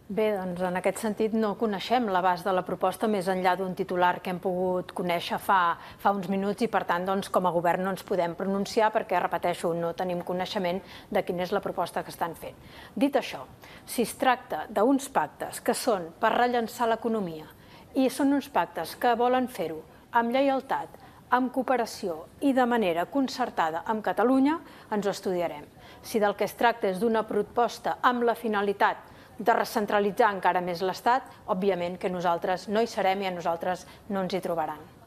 Bé, doncs en aquest sentit no coneixem l'abast de la proposta més enllà d'un titular que hem pogut conèixer fa uns minuts i per tant com a govern no ens podem pronunciar perquè, repeteixo, no tenim coneixement de quina és la proposta que estan fent. Dit això, si es tracta d'uns pactes que són per rellançar l'economia i són uns pactes que volen fer-ho amb lleialtat, amb cooperació i de manera concertada amb Catalunya, ens ho estudiarem. Si del que es tracta és d'una proposta amb la finalitat de recentralitzar encara més l'Estat, òbviament que nosaltres no hi serem i a nosaltres no ens hi trobaran.